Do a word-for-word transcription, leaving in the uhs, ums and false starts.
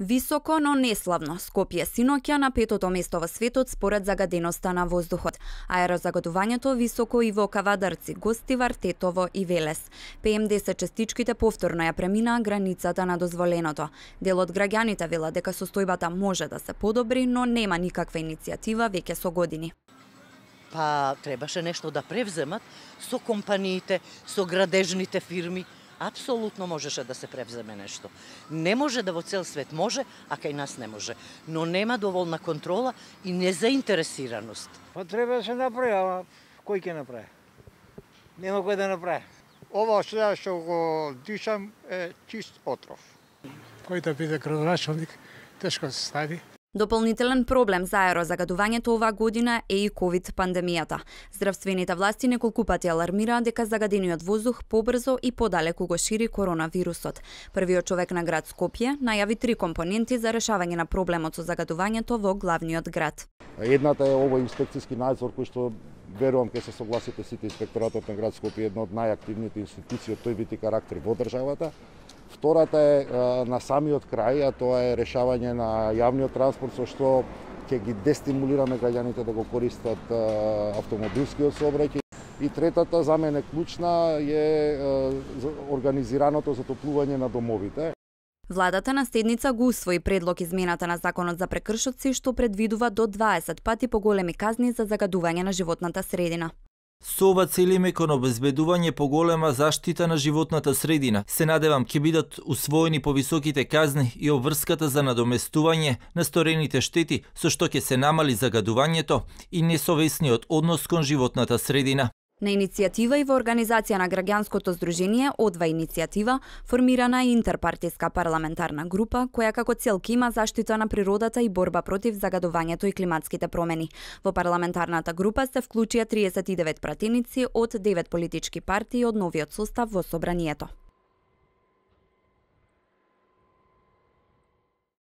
Високо, но неславно. Скопје синоќа на петото место во светот според загаденоста на воздухот. Аерозагадувањето високо и во Кавадарци, Гостивар, Тетово и Велес. пе ем десет частичките повторно ја преминаа границата на дозволеното. Дел од граѓаните велат дека состојбата може да се подобри, но нема никаква иницијатива веќе со години. Па требаше нешто да превземат со компаниите, со градежните фирми. Апсолутно можеше да се превземе нешто. Не може да во цел свет може, а кај нас не може. Но нема доволна контрола и незаинтересираност. Па треба да се направи, ама кој ќе направи? Нема кој да направи. Ова што што го дишам е чист отров. Кој да биде градоначалник, тешко се стави. Дополнителен проблем за аерозагадувањето оваа година е и ковид пандемијата. Здравствените власти неколку пати алармираат дека загадениот воздух побрзо и подалеку го шири коронавирусот. Првиот човек на град Скопје најави три компоненти за решавање на проблемот со загадувањето во главниот град. Едната е овој инспекцијски надзор кој што верувам ќе се согласите сите, инспекторатот на град Скопје е една од најактивните институции од тој вид и карактер во државата. Втората е на самиот крај, а тоа е решавање на јавниот транспорт, со што ќе ги дестимулираме граѓаните да го користат автомобилскиот сообраќај. И третата, за мене клучна, е организираното затоплување на домовите. Владата на седница го усвои предлог измената на законот за прекршоци, што предвидува до дваесет пати поголеми казни за загадување на животната средина. Со ова целиме кон обезбедување поголема заштита на животната средина. Се надевам ќе бидат усвоени повисоките казни и обврската за надоместување на сторените штети, со што ќе се намали загадувањето и несовесниот однос кон животната средина. На иницијатива и во организација на граѓанското здружение Одва иницијатива формирана е интерпартиска парламентарна група која како цел ќе има заштита на природата и борба против загадувањето и климатските промени. Во парламентарната група се вклучија триесет и девет пратеници од девет политички партии од новиот состав во собранието.